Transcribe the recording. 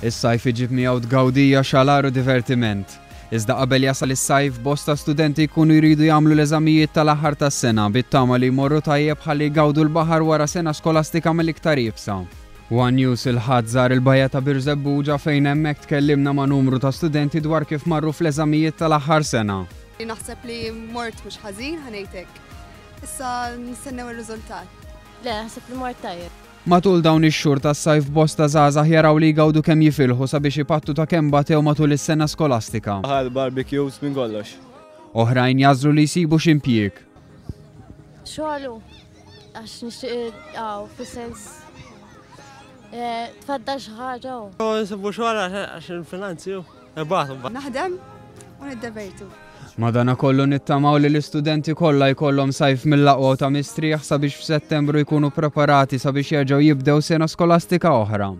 Is-sajf iġib miegħu tgawdija, xalar u divertiment. Iżda qabel jasal is-sajf, bosta studenti jkunu jridu jagħmlu l-eżamijiet tal-aħħar tas-sena bit-tama li jmorru tajjeb ħalli jgawdu l-baħar wara sena skolastika mill-iktar iebsa. One News il-Ħadd żar il-bajja ta' Birżebbuġa fejn hemmhekk tkellimna ma' numru ta' studenti dwar kif marru fl-eżamijiet tal-aħħar sena. Naħseb li mort mhux ħażin ħa ngħid hekk. Issa nistennew ir-riżultat. Le, naħseb li mort tajjeb. Matul dawn ix-xhur tas-sajf bosta żgħażagħ jaraw li jgawdu kemm jifilħu sabiex ipattu ta' kemm batew matul is-sena skolastika. Baħar, barbecues, minn kollox. Oħrajn jagħżlu li jsibu xi impjieg. Xogħol hu, għax nixtieq hawn fis-sens tfaddal xi ħaġa hu. Nsibu xogħol għax il-finanzi hu. Naħdem u niddevertu. Madanakollu nittamaw li l-istudenti kollha jkollhom sajf mill-aqwa u ta' mistrieħ sabiex f'Settembru jkunu preparati sabiex jerġgħu jibdew sena skolastika oħra.